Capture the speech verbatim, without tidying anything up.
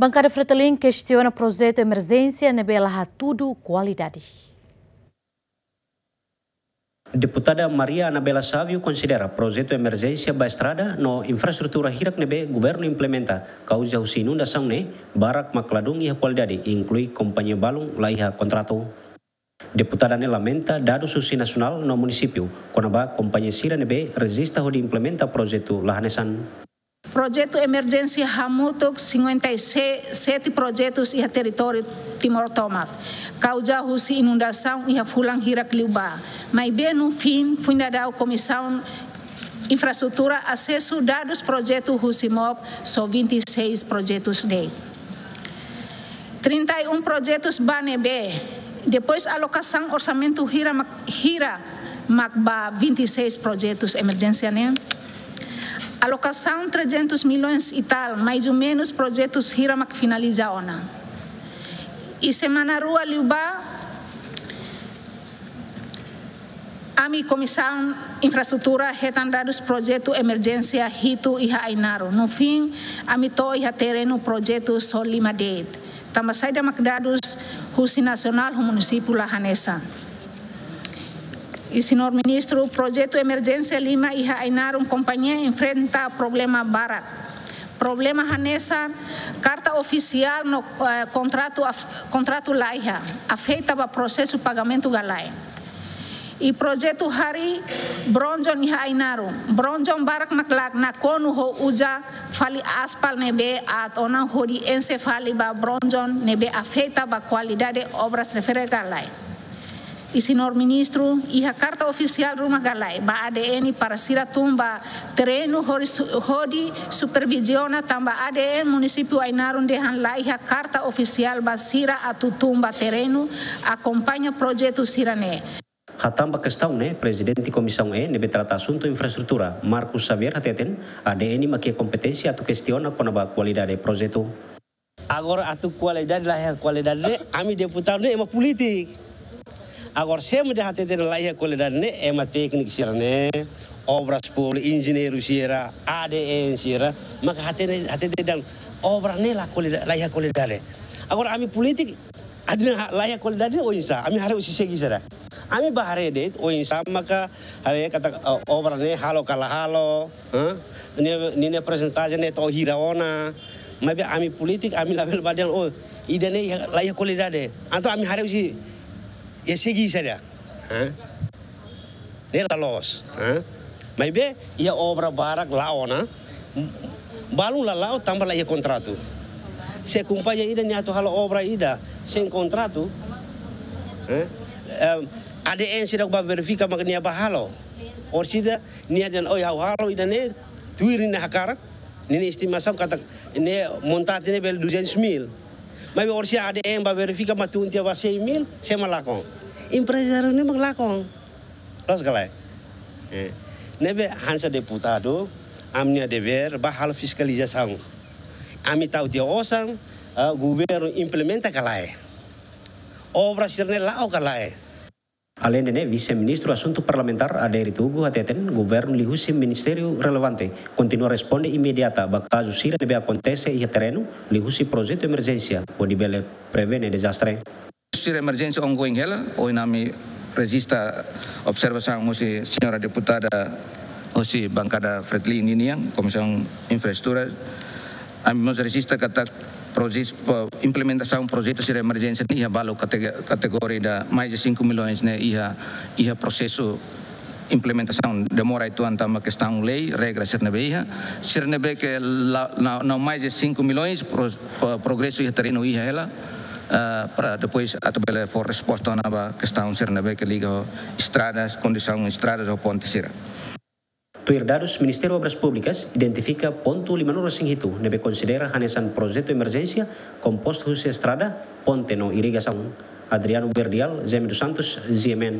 Bankada Fretilin kestiona projetu emerjénsia ne'ebé la hatudu kualidade. Deputada Maria Anabela Savio konsidera projetu emerjénsia ba estrada no infraestrutura hirak ne'ebé governu implementa kauza husi inundasaun ne'e barak mak ladún iha kualidade, inklui kompañia balun la iha kontratu. Deputada ne'e lamenta dadus husi nasionál no munisípiu kona-ba kompañia sira ne'ebé rejista hodi implementa projetu la hanesan. Projetu emerjénsia hamutuk cinquenta e sete projetus iha territóriu Timor tomak kauza husi inundasaun iha fulan hirak liubá. Maibé no fim, foin daudaun Komisaun Infraestrutura asesu dadus projetu husi MOP, só vinte e seis projetus de'it. Trinta e um projetus ba ne'ebé, depois alokasaun orsamentu hira mak, hira mak ba vinte e seis projetus emerjénsia ne'e. Alokasaun trezentos milhões e tal, mais ou menos projetus hira mak finaliza ona. I semana rua liubá, ami Komisaun Infraestrutura hetan dadus projetu emerjénsia hitu iha Ainaro. No fim, ami to'o iha terrenu projetu só lima de'it. Tanba saida mak dadus husi nasionál ho munisípiu la hanesan. I señór Ministru, projetu emerjénsia lima iha Ainaro kompañia enfrenta problema barak. Problema hanesan karta ofisiál no, eh, kontratu af-, kontratu laiha, afeta ba prosesu pagamentu ka lae. I projetu harii bronjon iha Ainaro. Bronjon barak mak la nakonu ho uza fali aspal ne'ebé aat ona hodi enxe fali ba bronjon ne'ebé afeta ba kualidade obras refere ka lae. I señór Ministru, iha karta ofisiál ruma ka lae ba A D N para sira tun ba terrenu hodi su-, hodi superviziona tanba A D N munisípiu Ainaro dehan laiha karta ofisiál ba sira atu tun ba terrenu akompaña projetu sira-ne'e. Hatán ba kestaun ne'e, Prezidente Komisaun E ne'ebé trata asuntu infraestrutura, Marcos Xavier hateten, A D N mak iha kompeténsia atu kestiona kona-ba kualidade projetu. Agora atu kualidade, laiha kualidade ne'e, ami deputadu ne'e ema polítiku. Agora sé mak dehan hateten laiha kualidade ne'e, ema tékniku sira-ne'e, obras públikas, enjeñeiru sira, A D N sira, maka hateten, hateten dehan obra ne'e la kualida-, laiha kualidade. Agora ami polítiku, atu dehan laiha kualidade ne'e oinsá, ami haree husi segi saida. Ami bá haree de'it oinsá maka haree katak, eh, obra ne'e halo ka la halo, hã? Ninia, ninia porcentagem ne'e to'o hira ona. Maibé ami polítiku, ami labele bá dehan, oh, ida-ne'e iha, laiha kualidade. Entaun ami haree husi, iha segi saida. Hã? Ne'e la loos, hã? Maibé, iha obra barak la'o ona, balun la la'o tanba laiha kontratu. Se kompañia ida nia atu halo obra ida sein kontratu, hã? Em, A D N seidauk bá verifika mak nia bá halo. Orsida nia dehan, oi, ha'u halo ida-ne'e, tuir ninia hakarak, ninia estimasaun katak ne'e montante ne'e bele duzentos mil. Maibé orsida A D N bá verifika mak tun tiha ba cem mil, sé mak lakon? Emprezáriu ne'e mak lakon. Loos ka lae? Eh. Ne'ebé hanesan deputadu, ami-nia devér bá halo fiskalizasaun. Ami tau tiha osan, ah, governu implementa ka lae? Obra sira-ne'e la'o ka lae? Aleinde ne'e, Vise-Ministru Asuntu Parlamentár Adérito Hugo hateten, governu liuhusi ministériu relevante kontinua responde imediata ba kazu sira ne'ebé akontese iha terrenu, liuhusi projetu emerjénsia, hodi bele prevene dezastre. Sira emerjénsia ongoing hela, ohin ami rejista observasaun husi señora deputada husi bankada Fretilin ninian, Komisaun Infraestrutura. Ami mós rejista katak projes-, po-, implementasaun projetu sira emerjénsia ne'e iha balu katege-, kategoria ida mais de cinco milhões ne'e iha, iha prosesu implementasaun demora uitoan tanba kestaun lei, regra sira ne'ebé iha. Sira ne'ebé ke la, na, na mais de cinco milhões pro-, po-, progresu iha terrenu iha hela, eh, para depois atu bele fó resposta ona ba kestaun sira ne'ebé ke liga ho estradas, kondisaun estradas ho ponte sira. Tuir dadus Ministériu Obras Públikas, identifika pontu lima-nulu-resin-hitu ne'ebé konsidera hanesan projetu emerjénsia, kompostu husi estrada, ponte no irrigasaun. Adriano Verdial, Jaime dos Santos, G M N.